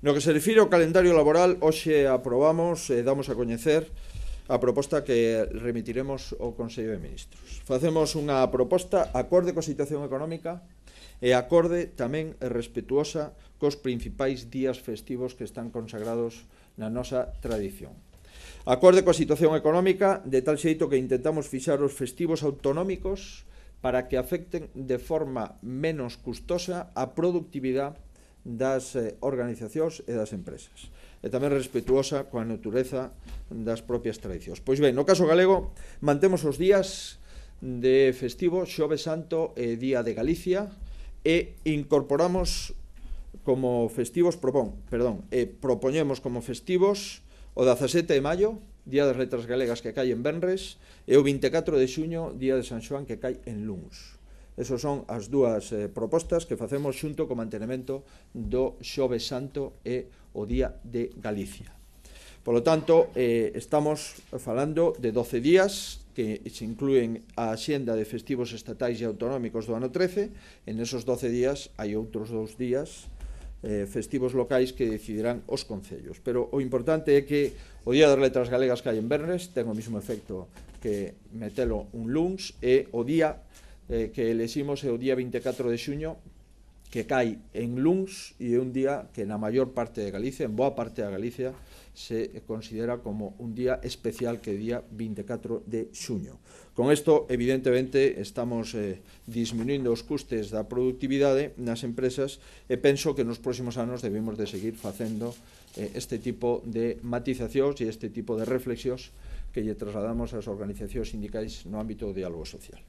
No que se refire ao calendario laboral, hoxe aprobamos e damos a coñecer a proposta que remitiremos ao Consello de Ministros. Facemos unha proposta acorde coa situación económica e acorde tamén e respetuosa cos principais días festivos que están consagrados na nosa tradición. Acorde coa situación económica, de tal xeito que intentamos fixar os festivos autonómicos para que afecten de forma menos custosa a productividade das organizacións e das empresas, e tamén respetuosa coa natureza das propias tradicións. Pois ben, no caso galego, mantemos os días de festivo Xoves Santo e Día de Galicia e incorporamos como festivos, propoñemos como festivos o 17 de maio, Día das Letras Galegas, que cae en venres, e o 24 de xuño, Día de San Xoán, que cae en luns. Esas son as dúas propostas que facemos xunto co mantenimento do Xoves Santo e o Día de Galicia. Por lo tanto, estamos falando de 12 días que se inclúen a axenda de festivos estatais e autonómicos do ano 13. En esos 12 días hai outros 2 días festivos locais que decidirán os concellos. Pero o importante é que o Día das Letras Galegas cae en venres, ten o mesmo efecto que metelo un luns, e o día que eleximos é o día 24 de xuño, que cae en luns, e é un día que na maior parte de Galicia, en boa parte da Galicia, se considera como un día especial, que é o día 24 de xuño. Con isto, evidentemente, estamos disminuindo os custes da productividade nas empresas, e penso que nos próximos anos debemos de seguir facendo este tipo de matizacións e este tipo de reflexións que lle trasladamos ás organizacións sindicais no ámbito do diálogo social.